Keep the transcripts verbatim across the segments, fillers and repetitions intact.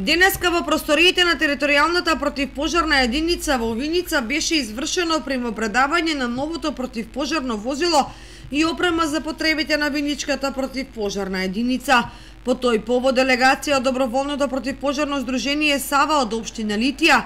Денеска во просториите на територијалната противпожарна единица во Виница беше извршено примопредавање на новото противпожарно возило и опрема за потребите на Виничката противпожарна единица. По тој повод делегација од Доброволното противпожарно здружение Сава од општина Литија,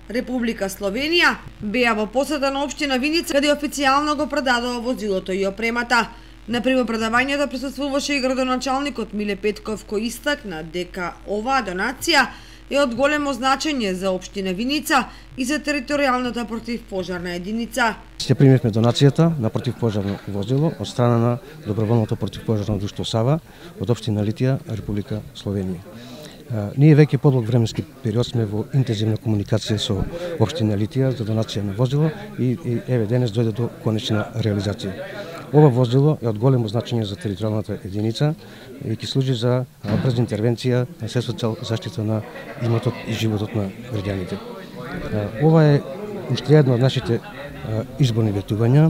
Република Словенија, беа во посета на општина Виница, каде официјално го предадоа возилото и опремата. На примопредавањето присуствуваше и градоначалникот Миле Петков, кој истакна дека оваа донација е од големо значење за општина Виница и за територијалната противпожарна единица. Се примивме донацијата на противпожарно возило од страна на Доброволното противпожарно друштво Сава од општина Литија, Република Словенија. Ние веќе подлог временски период сме во интензивна комуникација со општина Литија за донација на возило и, и еве денес дојде до конечна реализација. Ова возило е од големо значење за територијалната единица и ќе служи за брза интервенција на се со цел заштита на имотот и животот на граѓаните. Ова е уште едно од нашите изборни ветувања,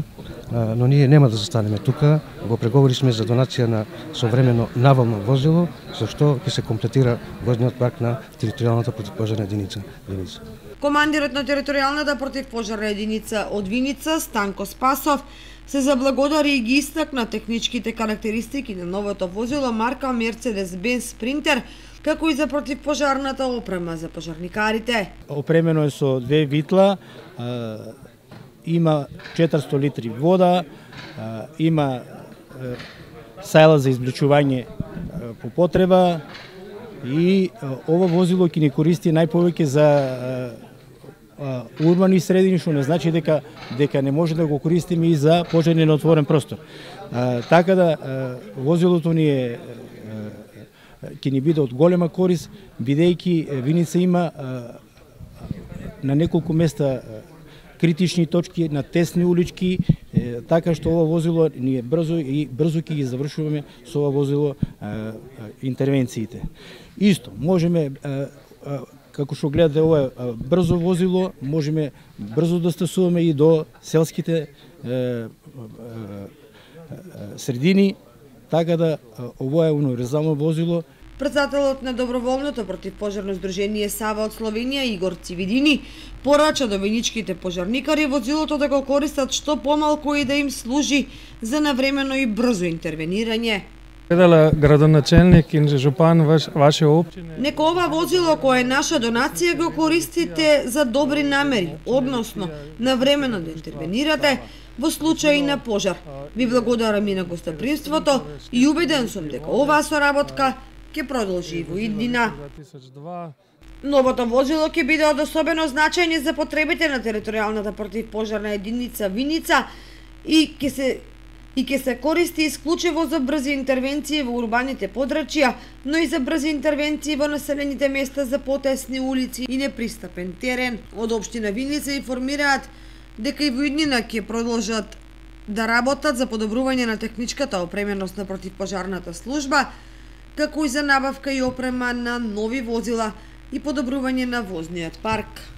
но ние нема да застанеме тука. Во преговори сме за донација на современо навално возило, со што ќе се комплетира возниот парк на територијалната противпожарна единица Виница. Командирот на територијалната противпожарна единица од Виница, Станко Спасов, се заблагодари и ги истакна техничките карактеристики на новото возило марка Mercedes-Benz Sprinter, како и за противпожарната опрема за пожарникарите. Опремено е со две витла, има четиристотини литри вода, има сајла за извлечување по потреба и ова возило ќе ни користи најповеќе за урбани средини, што не значи дека дека не може да го користиме и за пожарни на отворен простор. А, така да а, возилото ни е ќе ни биде од голема корист, бидејќи Виница има а, на неколку места критични точки, на тесни улички, е, така што ова возило ни е брзо и брзо ќе ги завршуваме со ова возило а, а, интервенциите. Исто, можеме а, а, како што гледате, ова е брзо возило, можеме брзо да стасуваме и до селските е, е, е, средини, така да ова е универзално возило. Претседателот на Доброволното противпожарно здружение Сава од Словенија Игор Цивидини порача до виничките пожарникари возилото да го користат што помалку и да им служи за навремено и брзо интервенирање. Градоначалник и жупан ваш, ваше општина. Нека ова возило кое е наша донација го користите за добри намери, односно навремено да интервенирате во случај на пожар. Ви благодарам и на гостопримството и убеден сум дека оваа соработка ќе продолжи и во иднина. Новото возило ќе биде од особено значење за потребите на територијалната противпожарна единица Виница и ќе се и ќе се користи исклучиво за брзи интервенции во урбаните подрачја, но и за брзи интервенции во населените места за потесни улици и непристапен терен. Од општина Виница информираат дека и во иднина ќе продолжат да работат за подобрување на техничката опременост на противпожарната служба, како и за набавка и опрема на нови возила и подобрување на возниот парк.